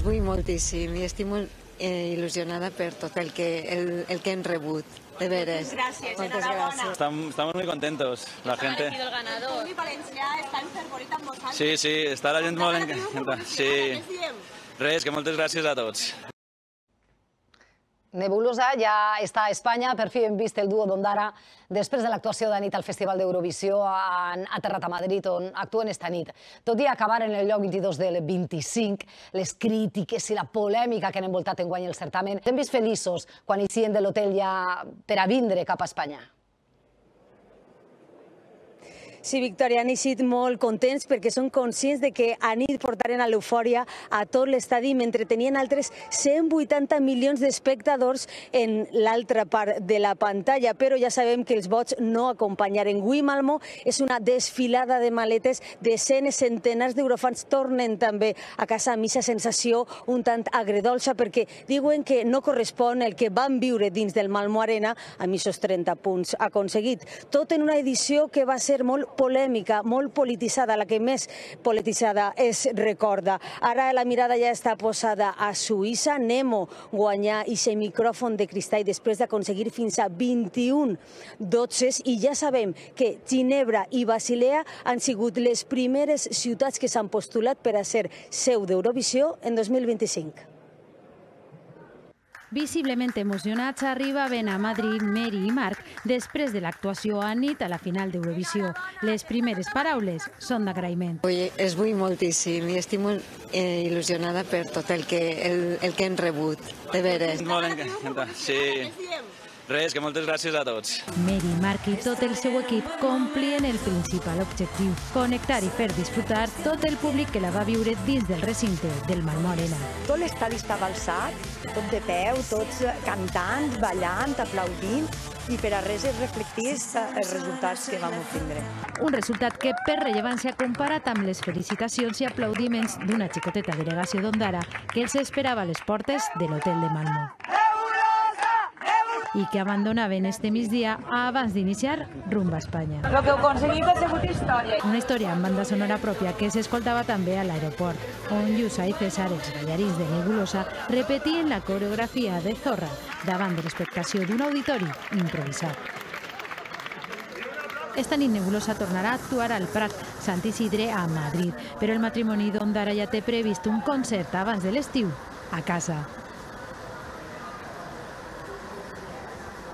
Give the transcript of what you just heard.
Vull moltíssim i estic molt il·lusionada per tot el que hem rebut. De veres. Gracias, Moltes gràcies. Estamos muy contentos. La gente. El ganador. El valencià està enfervorit amb vosaltres. Sí, sí, està la gent molt encantada. Sí. Res, que moltes gràcies a tots. Nebulosa ja està a Espanya, per fi hem vist el duo d'Ondara després de l'actuació de nit al Festival d'Eurovisió, han aterrat a Madrid on actuen esta nit. Tot i acabar en el lloc 22 del 25, les crítiques i la polèmica que han envoltat enguany el certamen, hem vist feliços quan eixien de l'hotel ja per a vindre cap a Espanya. Sí, Victòria, han eixit molt contents perquè són conscients de que a nit portaren a l'eufòria a tot l'estadi mentre tenien altres 180 milions d'espectadors en l'altra part de la pantalla, però ja sabem que els vots no acompanyaren. Avui Malmö és una desfilada de maletes, desenes, centenars d'eurofans tornen també a casa amb aquesta sensació un tant agredolça perquè diuen que no correspon el que van viure dins del Malmö Arena amb aquests 30 punts aconseguit. Tot en una edició que va ser molt polèmica, molt polititzada, la que més polititzada es recorda. Ara la mirada ja està posada a Suïssa. Nemo guanyar aquest micròfon de cristall després d'aconseguir fins a 21 dotses i ja sabem que Ginebra i Basilea han sigut les primeres ciutats que s'han postulat per a ser seu d'Eurovisió en 2025. Visiblement emocionats arribaven a Madrid Mary i Marc després de l'actuació a nit a la final d'Eurovisió. Les primeres paraules són d'agraïment. Es vull moltíssim i estic molt il·lusionada per tot el que hem rebut. De veres. Molt encantada. Sí. Res, que moltes gràcies a tots. Mary, Marc i tot el seu equip complien el principal objectiu, connectar i fer disfrutar tot el públic que la va viure dins del recinte del Malmö Arena. Tot l'estadi estava alçat, tot de peu, tots cantant, ballant, aplaudint, i per a res es reflectís els resultats que vam obtindre. Un resultat que per rellevància comparat amb les felicitacions i aplaudiments d'una xicoteta delegació d'Ondara que els esperava a les portes de l'hotel de Malmö. I que abandonaven este migdia abans d'iniciar rumb a Espanya. Lo que heu aconseguit ha sigut història. Una història amb banda sonora pròpia que s'escoltava també a l'aeroport, on Lluça i César, els ballarins de Nebulosa, repetien la coreografia de Zorra davant de l'expectació d'un auditori improvisat. Esta nit Nebulosa tornarà a actuar al Prat Sant Isidre a Madrid, però el matrimoni d'Ondara ja té previst un concert abans de l'estiu a casa.